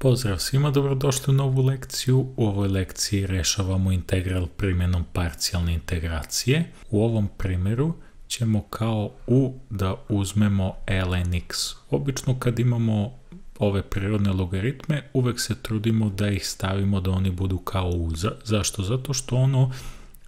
Pozdrav svima, dobrodošli u novu lekciju. U ovoj lekciji rešavamo integral primjenom parcijalne integracije. U ovom primjeru ćemo kao u da uzmemo ln x. Obično kad imamo ove prirodne logaritme, uvek se trudimo da ih stavimo da oni budu kao u. Zašto? Zato što ono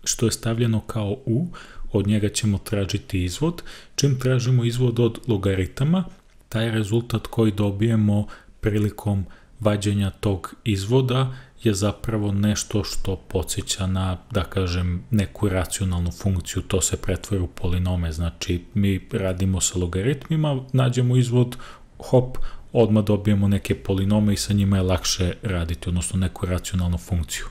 što je stavljeno kao u, od njega ćemo tražiti izvod. Čim tražimo izvod od logaritama, taj rezultat koji dobijemo prilikom vađenja tog izvoda je zapravo nešto što podsjeća na, da kažem, neku racionalnu funkciju, to se pretvori u polinome, znači mi radimo sa logaritmima, nađemo izvod, hop, odmah dobijemo neke polinome i sa njima je lakše raditi, odnosno neku racionalnu funkciju.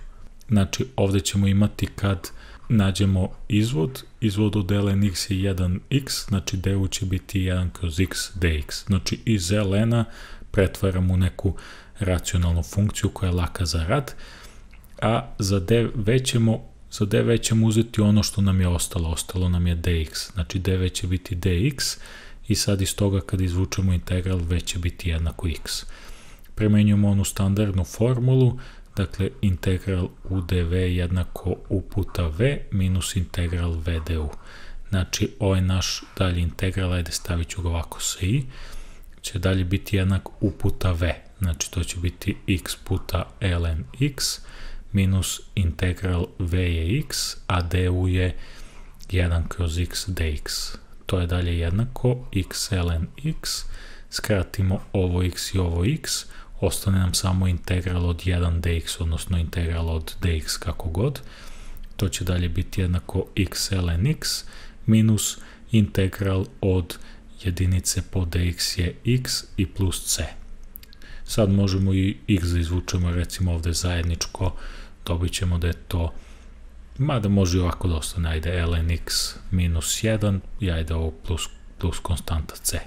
Znači ovdje ćemo imati kad nađemo izvod od ln x je 1x, znači du će biti 1 kroz x dx, znači iz ln-a pretvaramo u neku racionalnu funkciju koja je laka za rad, a za dv ćemo uzeti ono što nam je ostalo nam je dx, znači dv će biti dx i sad iz toga kad izvučemo integral v će biti jednako x. Primenjujemo onu standardnu formulu, dakle integral u dv jednako u puta v minus integral v du. Znači ovaj naš dalji integral, ajde stavit ću ga ovako sa i, će dalje biti jednak u puta v, znači to će biti x puta ln x minus integral v je x, a du je 1 kroz x dx. To je dalje jednako x ln x, skratimo ovo x i ovo x, ostane nam samo integral od 1 dx, odnosno integral od dx kako god. To će dalje biti jednako x ln x minus integral od jedinice po dx je x i plus c. Sad možemo i x da izvučemo, recimo ovdje zajedničko, dobit ćemo da je to, mada može i ovako da ostane, ajde ln x minus 1 i ajde ovo plus konstanta c.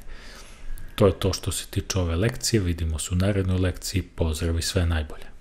To je to što se tiče ove lekcije, vidimo se u narednoj lekciji, pozdrav i sve najbolje.